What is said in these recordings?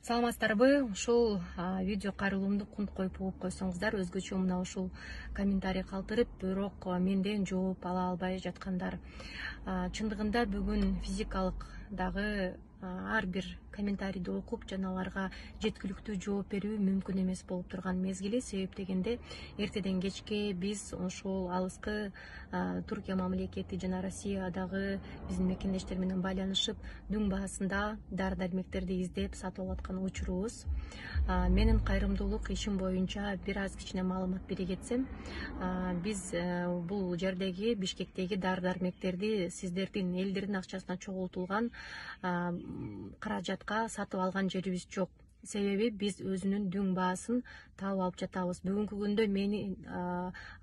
Саламатсыздарбы? Ушул видео кайрылуумду кунт коюп угуп койсоңуздар, өзгөчө мына ушул комментарий калтырып, бирок менден жооп ала албай жаткандар. Чындыгында бүгүн физикалык дагы ар бир комментарийди окуп жана аларга жеткиликтүү жооп берүү мүмкүн эмес болуп турган мезгили. Себеп дегенде эртеден кечке биз ошол алыскы Туркия мамлекети жана Россиядагы биздин мекендештер менен байланышып, дүң баасында дары-дармектерди издеп сатып алып аткан учурубуз. Менин кайрымдуулук ишим боюнча бир аз кичине маалымат бере кетсем, биз бул жердеги Бишкектеги дары-дармектерди сиздердин элдердин акчасына чогултулган каражатка сатып алган жерибиз жок. Себеби биз өзүнүн дүң баасын таап алып жатабыз. Бүгүнкү күндө менин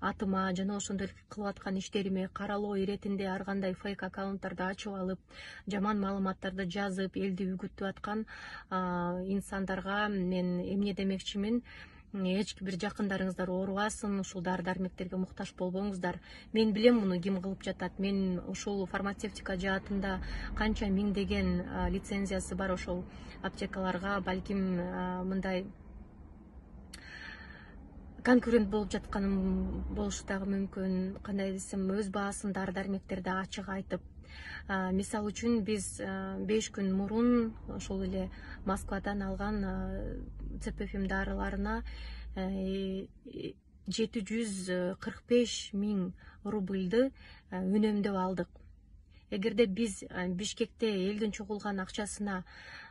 атыма жана ошондой кылып аткан иштериме каралоо иретинде ар кандай фейк аккаунттарды ачып алып, жаман маалыматтарды жазып, элди үгүттүп аткан инсандарга мен эмне демекчимин? Эч бир жакындарыңыздар оорубасын, ушул дары-дармектерге муктаж болбоңуздар. Мен билем муну ким кылып жатат. Мен ушул фармацевтика жаатында канча миңдеген лицензиясы бар ошол аптекаларга балким мындай конкурент болуп жатканым болушу дагы мүмкүн. Кандай десем, өз баасын дары-дармектерди ачык айтып, мисалы үчүн биз 5 күн мурун ошол эле Москвадан алган ЦПФМ дарыларына 745 000 рубльды үнөмдөп алдык. Эгерде биз Бишкекте элдин чогулган акчасына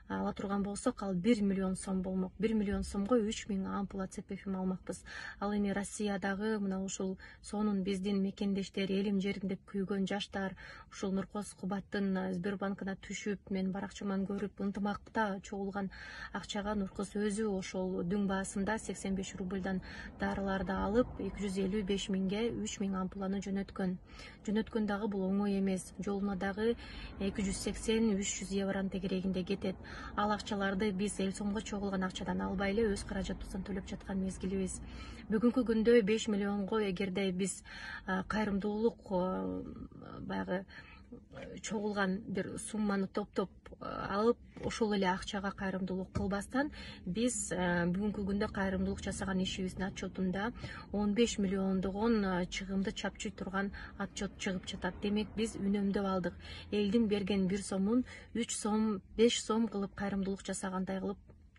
ала турган болсок, ал 1 миллион сом болмок. 1 миллион сомго 3000 ампула ЦПФМ алмакпыз. Ал эми Россиядагы мына ушул сонун биздин мекендештер, элим жерим деп күйгөн жаштар ушул Нуркос Кубаттын Сбербанкына түшүп, мен баракчаман көрүп ынтымакта чогулган акчага Нуркос өзү ошол дүң баасында 85 рубльдан дарыларды алып 255 000ге 3000 ампуланы жөнөткөн. Жөнөткөн дагы бул оңой эмес. Жолуна дагы 280-300 евронун тегерегинде кетет. Ал акчаларды биз эл сомго чогулган акчадан албай эле өз каражатыбыздан төлөп жаткан мезгилибиз. Бүгүнкү күндө 5 миллионго эгерде биз кайрымдуулук баягы чогулган бир сумманы топтоп алып, ошол эле акчага кайрымдуулук кылбастан, биз бүгүнкү күндө кайрымдуулук жасаган ишибиздин отчетунда 15 миллиондогон чыгымды чапчый турган отчет чыгып жатат. Демек биз үнөмдөп алдык. Элдин берген 1 сомун 3 сом, 5 сом кылып кайрымдуулук жасагандай кылып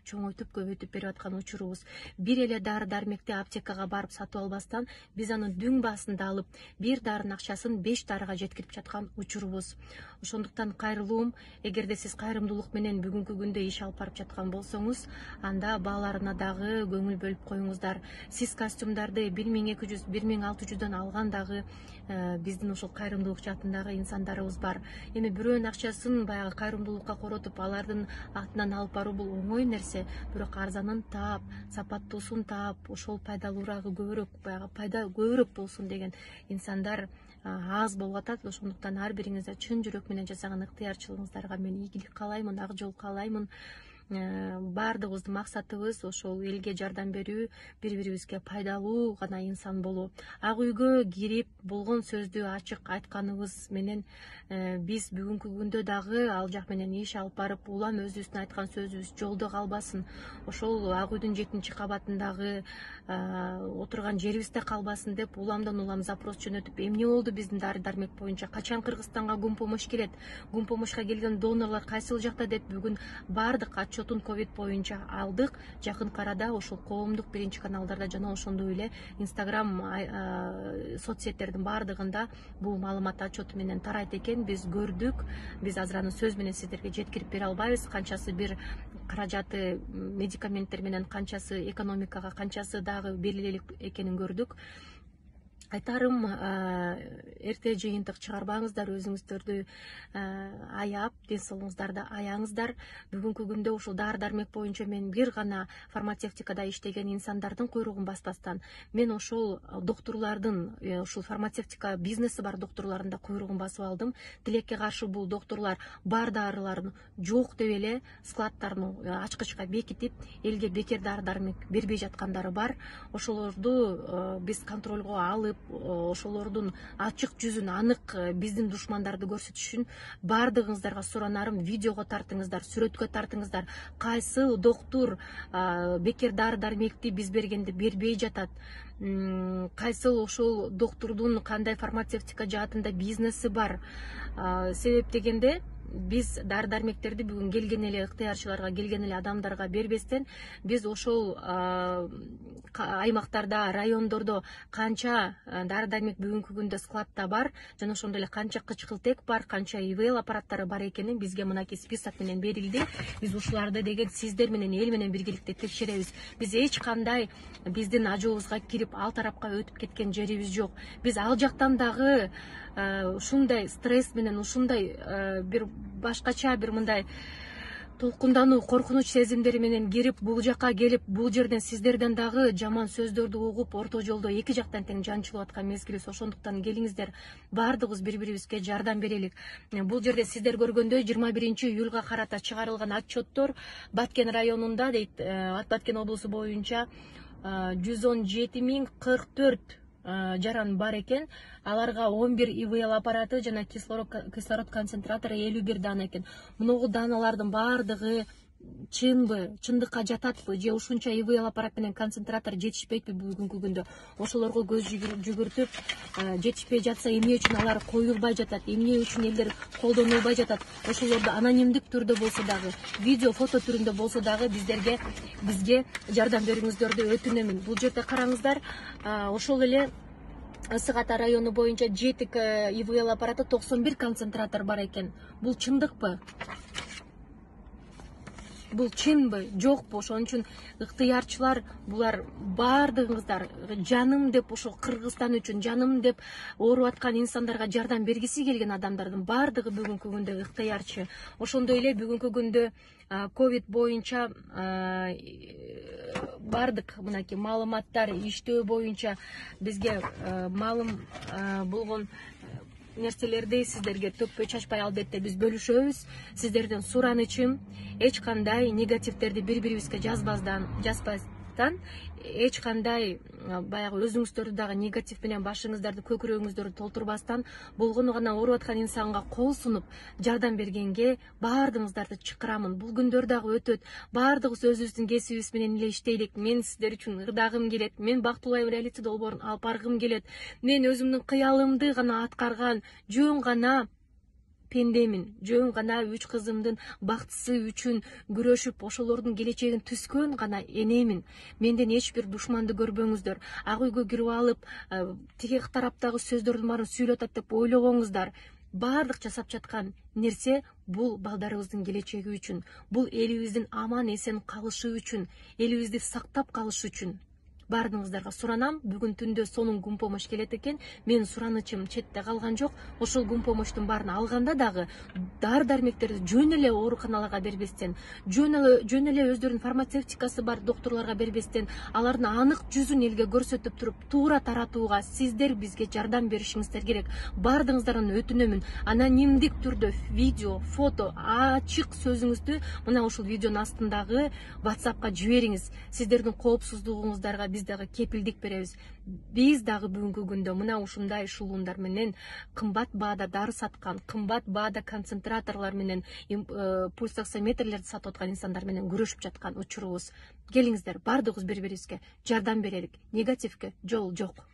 чоңойтуп көбөйтүп берип аткан учурубуз. Бир эле дары-дармекти аптекага барып сатып албастан, биз аны дүң баасында алып, бир дарынын акчасын 5 дарыга жеткирип жаткан учурубуз. Ошондуктан кайрылуум, эгерде сиз кайрымдуулук менен бүгүнкү күндө иш алып барып жаткан болсоңуз, анда бааларына дагы көңүл бөлүп коюңуздар. Сиз костюмдарды 1200, 1600дан алган дагы биздин ошол кайрымдуулук жаатындагы инсандарыбыз бар. Эми бирөөнүн акчасын баягы кайрымдуулукка коротуп, алардын атынан алып баруу бул оңой нерсе, бирок арзанын таап, сапаттуусун таап, ошол пайдалуурагы көбүрөөк, баягы пайда көбүрөөк болсун деген инсандар аз болуп атат. Ошондуктан ар бириңизде чын жүрөк менен жасаган ыктыярчылыгыңыздарга мен ийгилик каалаймын, ак жол каалаймын. Баардыгыбыздын максатыбыз ошол элге жардам берүү, бири-бирибизге пайдалуу гана инсан болуу. Ак үйгө кирип болгон сөздү ачык айтканыбыз менен биз бүгүнкү күндө дагы ал жак менен иш алып барып, улам өзүбүздүн айткан сөзүбүз жолдо калбасын. Ошол Ак үйдүн 7-кабатындагы отурган жерибизде калбасын деп уламдан улам запрос жөнөтүп, эмне болду биздин дары-дармек боюнча, качан Кыргызстанга гумпомощь келет, гумпомощька келген донорлор кайсыл жакта деп бүгүн баардык отчетун ковид боюнча алдык. Жакын арада ошол коомдук биринчи каналдарда жана ошондой эле Инстаграм соцсеттердин баардыгында бул маалымат отчету менен тарайт экен. Биз көрдүк. Биз азыр аны сөз менен сиздерге жеткирип бере албайбыз. Канчасы бир каражаты медикаменттер менен, канчасы экономикага, канчасы дагы берилелик экенин көрдүк. Айтарым, эрте жыйынтык чыгарбаңыздар, өзүңүздөрдү аяп, ден соолугуңуздарды аяңыздар. Бүгүнкү күндө ушул дары-дармек боюнча мен бир гана фармацевтикада иштеген инсандардын куйругун баспастан, мен ошол доктурлардын, ушул фармацевтика бизнеси бар доктурлардын да куйругун басып алдым. Тилекке каршы бул доктурлар бар дарыларын жок деп эле складдарын ачкычка бекитип, элге бекер дары-дармек бербей жаткандары бар. Ошолорду биз контролго алып, ошолордун ачык жүзүн, анык биздин душмандарды көрсөтүш үчүн баардыгыңыздарга суранарым, видеого тартыңыздар, сүрөткө тартыңыздар. Кайсыл доктур бекер дары дармекти биз бергенди бербей жатат, кайсыл ошол доктурдун кандай фармацевтика жаатында бизнеси бар. Себеп дегенде биз дары дармектерди бүгүн келген эле ыктыярчыларга, келген эле адамдарга бербестен, биз ошол аймактарда, райондордо канча дары дармек бүгүнкү күндө складта бар, жана ошондой эле канча кычкылтек бар, канча ИВЛ аппараттары бар экени бизге мынакей список менен берилди. Биз ушуларды деген сиздер менен, эл менен биргеликте текшеребиз. Биз эч кандай биздин ажообузга кирип ал тарапка өтүп кеткен жерибиз жок. Биз ал жактан дагы ушундай стресс менен, ушундай бир башкача бир мындай толкундануу, коркунуч сезимдери менен кирип, бул жака келип, бул жерден сиздерден дагы жаман сөздөрдү угуп, орто жолдо эки жактан тең жанчылып аткан мезгилибиз. Ошондуктан келиңиздер, баардыгыбыз бири-бирибизге жардам берелик. Бул жерде сиздер көргөндөй 21-июлга карата чыгарылган отчеттор Баткен районунда дейт, Баткен облусу боюнча 117.044 жаран бар экен. Аларга 11 ИВЛ аппараты жана кислород концентратору 51 дана экен. Муногу даналардын баардыгы чынбы, чындыкка жататпы, же ушунча ИВЛ аппарат менен концентратор жетишпейби бүгүнкү күндө? Ошолорго көз жүгүртүп, жетишпей жатса эмне үчүн алар коюлбай жатат, эмне үчүн элдер колдонулбай жатат? Ошолорду анонимдик түрдө болсо дагы, видео, фото түрүндө болсо дагы бизге жардам бериңиздерди өтүнөмүн. Бул жерде караңыздар, ошол эле Ысык Ата району боюнча 7 ИВЛ аппараты, 91 концентратор бар экен. Бул чындыкпы? Бул чынбы, жокпу? Ошон үчүн ыктыярчылар, булар баардыгыңыздар жаным деп, ошо Кыргызстан үчүн жаным деп ооруп аткан инсандарга жардам бергиси келген адамдардын баардыгы бүгүнкү күндө ыктыярчы. Ошондой эле бүгүнкү күндө ковид боюнча бардык мынакей маалыматтар иштөө боюнча бизге маалым болгон нерселерди сиздерге төкпөй чачпай албетте биз бөлүшөбүз. Сиздерден суранычым, эч кандай негативдерди бири-бирибизге жазбастан, эч кандай баягы өзүңүздөрдү дагы негатив менен башыңыздарды, көкүрөгүңүздөрдү толтурбастан, болгону гана ооруп аткан инсанга кол сунуп жардам бергенге баардыгыңыздарды чакырамын. Бул күндөр дагы өтөт. Баардыгыбыз өзүбүздүн кесибибиз менен эле иштейлик. Мен сиздер үчүн ырдагым келет. Мен бактылуу реалити долбоорун алып баргым келет. Мен өзүмдүн кыялымды гана аткарган жөн гана пендемин, жөн гана 3 кызымдын бактысы үчүн күрөшүп, ошолордун келечегин түзгөн гана энемин. Менден эч бир душманды көрбөңүздөр. Ак үйгө кирип алып, тиги тараптагы сөздөрдүн баарын сүйлөп атат деп ойлобоңуздар. Баардык жасап жаткан нерсе бул балдарыбыздын келечеги үчүн, бул элибиздин аман эсен калышы үчүн, элибизди сактап калышы үчүн. Баардыгыңыздарга суранам. Бүгүн түндө сонун гум помощь келет экен. Менин суранычым четте калган жок. Ошол гум помощтун баарын алганда дагы дары дармектерди жөн эле ооруканаларга бербестен, жөн эле өздөрүнүн фармацевтикасы бар докторлорго бербестен, алардын анык жүзүн элге көрсөтүп туруп, туура таратууга сиздер бизге жардам беришиңиздер керек. Баардыгыңыздардан өтүнөмүн. Анонимдик түрдө видео, фото, ачык сөзүңүздү мына ушул видеонун астындагы WhatsAppка жибериңиз. Сиздердин коопсуздугуңуздарга биз дагы кепилдик беребиз. Биз дагы бүгүнкү күндө мына ушундай эшелондар менен кымбат баада дары саткан, кымбат баада концентраторлор менен пульсоксиметрлерди сатып аткан инсандар менен күрөшүп жаткан учурубуз. Келиңиздер, баардыгыбыз бири-бирибизге жардам берелик. Негативге жол жок.